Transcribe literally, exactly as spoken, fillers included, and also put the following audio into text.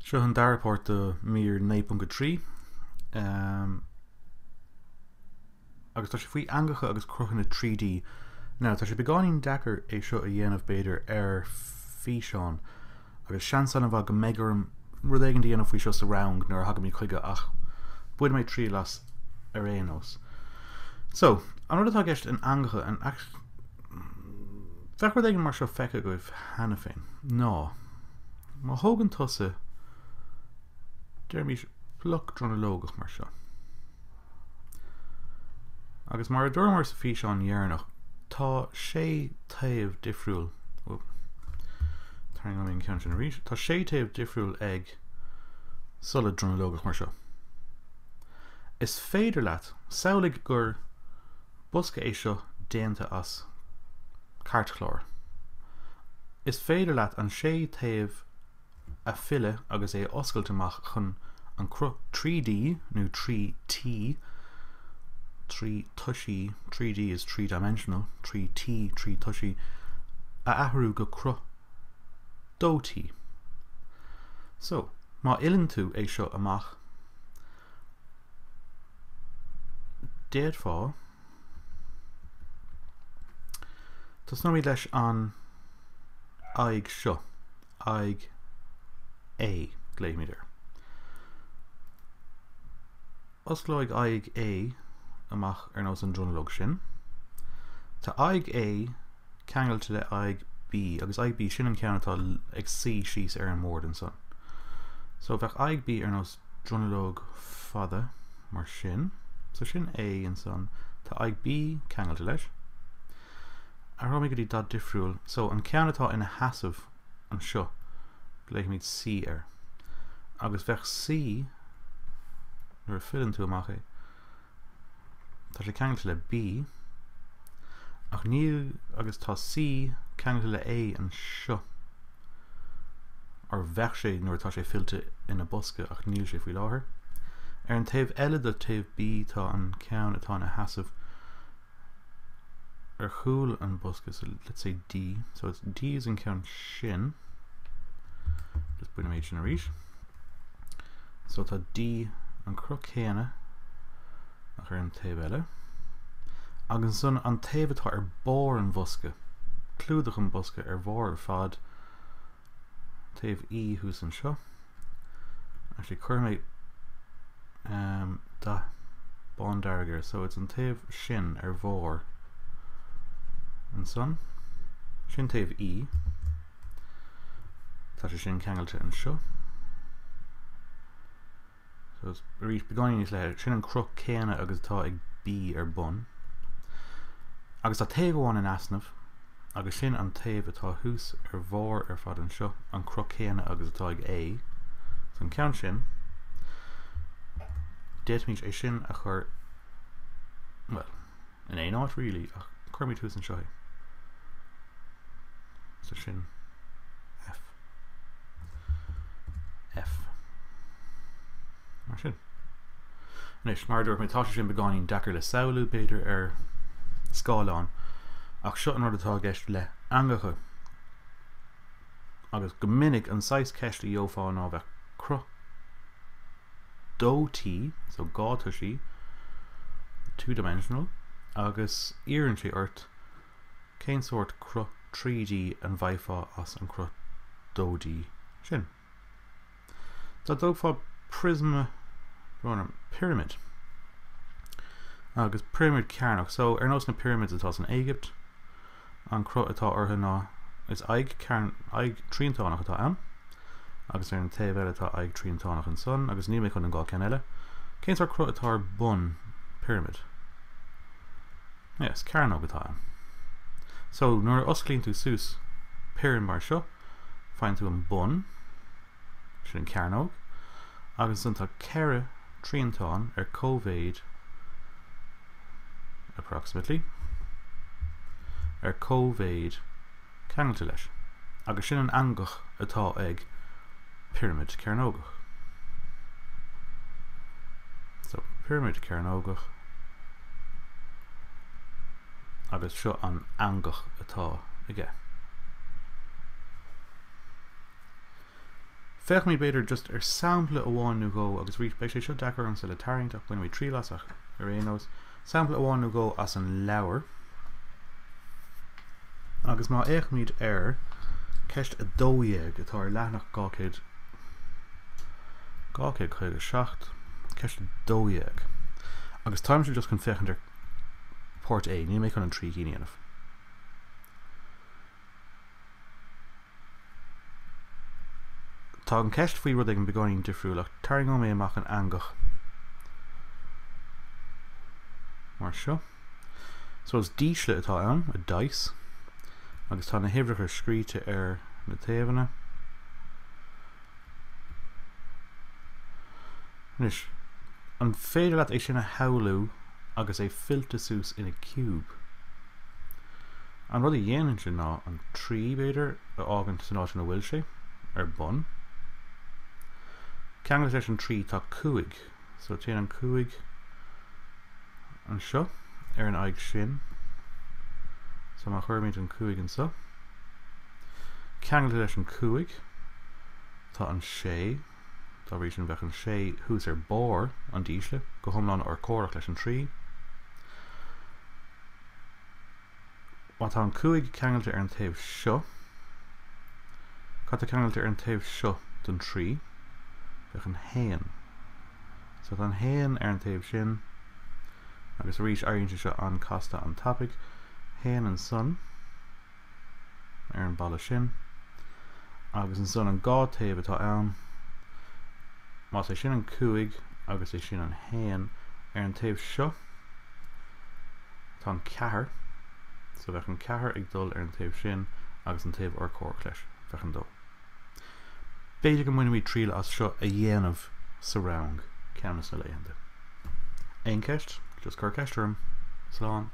Seo an dara páirt de mír naoi ponc a trí agus tá sé faoi eangacha agus cruthanna trí D. Now, tá sé beagáinín deacair é seo a dhéanamh b'fhéidir ar físeán agus seans an-mhaith go mbeidh orm rud éigin a dhéanamh faoi seo sa rang nuair a thagaimid chuige ach bainfidh mé triail as ar aon nós. So, an rud atá i gceist in eangacha, an bheadh rud éigin mar seo feicthe agaibh cheana féin, ná má thógann tusa deirimís bloc dronuilleogach mar seo. Agus mar a dúramar sa físeán dheireanach, tá sé taobh difriúil, tarraingeoidh mé an ceann sin arís, tá sé taobh difriúil ag solad dronuilleogach mar seo. Is féidir leat, samhlaigh gur bosca é seo déanta as cairtchlár. Is féidir leat an sé taobh a fhilleadh agus é a oscailt amach chun an cruth trí D nó trí T, trí toisí, three D is three dimensional, trí T, trí toisí, a athrú go cruth dó T. So, má fhilleann tú é seo amach, d'fhéadfá, tosnóimid leis an aghaidh seo, aghaidh A, glaofaimid air. Osclóidh aghaidh A amach ar nós an dronuilleog sin. Tá aghaidh A ceangailte le aghaidh B, agus aghaidh B, sin an ceann atá ag suí síos ar an mbord ansan. So bheadh aghaidh B ar nós dronuilleog fada mar sin. So sin A ansan. Tá aghaidh B ceangailte leis. Athróimid go dtí dath difriúil. So an ceann atá ina sheasamh anseo, glaofaimid C air. Agus bheadh C, nuair a fhilleann tú amach é, tá sé ceangailte le B, ach níl, agus tá C ceangailte le A anseo, or bheadh sé nuair atá sé fillte ina bosca, ach níl sé faoi láthair. Ar an taobh eile de taobh B tá an ceann atá ina sheasamh ar chúl an bosca, so let's say D, so it's D is an ceann sin, just bainfidh mé sin arís, so tá D an cruth céanna ach ar an taobh eile, agus ansan an taobh atá ar barr an bhosca, clúdach an bosca ar bharr ar fad, taobh E thuas anseo, actually cuirfidh mé um, dath bándearg air, so it's an taobh sin ar bharr ansan, sin taobh E, tá sé sin ceangailte anseo, so it's arís beagáinín níos leithne, sin an cruth céanna agus atá ag B ar bun, agus tá taobh amháin in easnamh, agus sin an taobh atá thuas ar bharr ar fad anseo, an cruth céanna agus atá ag A, so an ceann sin, d'fhéadfaimis é sin a chur, well, in aon áit really, ach cuirfimid thuas anseo é. So sin F. F. Mar sin. Anois, mar a dúirt mé, tá sé sin beagáinín deacair le samhlú, b'fhéidir, ar scáileán, ach seo an rud atá i gceist le eangacha. Agus go minic an saghas ceist a gheofá ná bheadh cruth dó T, so dhá toisí, two dimensional, agus iarrann sé ort cén sórt cruth trí D an bhfaighfeá as an cruth dó D sin. Dá dtógfá prisma, pyramid, agus pyramid cearnach, so ar nós na pyramids atá san Éigipt, an cruth atá orthu ná is aghaidh cearn, aghaidh triantánach atá ann, agus ar an taobh eile tá aghaidh triantánach ansan, agus níl mé chun an dhá ceann eile. Cén sórt cruth atá ar bun pyramid? Yes, cearnóg atá ann. So, nuair a osclaíonn tú suas pyramid mar seo, faigheann tú an bun, sin an cearnóg, agus ansan tá ceithre triantán ar cóimhéid, approximately, ar cóimhéid ceangailte leis, agus sin an eangach atá ag pyramid cearnógach. So, pyramid cearnógach, agus seo an eangach atá aige. Féachfaimid b'fhéidir just ar sampla amháin nó dhó agus arís beidh sé seo deacair ormsa le tarraingt ach bainfimid triail as ach ar aon nós. Sampla amháin nó dhó as an leabhar. Agus má fhéachaimid ar ceist a dó dhéag atá ar leathanach dhá chéad dhá chéad caoga seacht, ceist a dó dhéag. Agus táimse just chun féachaint ar páirt A, níl mé chun an trí cinn a dhéanamh. Tá an ceist faoi rud éigin beagáinín difriúil ach tarraingeoidh mé amach an eangach mar seo. So is dísle atá ann, a dice, agus tá na huimhreacha scríte ar na taobhanna. Anois, an féidir leat é sin a shamhlú agus é fillte suas ina ciúb? An rud a dhéanann sin ná an trí b'fhéidir a fhágaint san áit ina bhfuil sé, ar bun. Ceangailte leis an trí tá cúig, so téann an cúig anseo ar an aghaidh sin. So má chuirimid an cúig anseo, ceangailte leis an cúig tá an sé, dá bhrí sin bheadh an sé thuas ar barr an dísle, go hiomlán urchomhaireach leis an trí. Má tá an cúig ceangailte ar an taobh seo, cad tá ceangailte ar an taobh seo den trí? Bheadh an haon. So tá an haon ar an taobh sin, agus arís éiríonn sé seo an-casta an-tapaidh. Haon ansan ar an balla sin, agus ansan an dhá taobh atá ann, más é sin an cúig agus é sin an haon, ar an taobh seo tá an ceathair, so bheadh an ceathair ag dul ar an taobh sin agus an taobh urchomhaireach leis, bheadh an dó. B'fhéidir go mbainfimid triail as seo a dhéanamh sa rang ceann de na laethanta. Aon cheist? Just cuir ceist orm. Slán.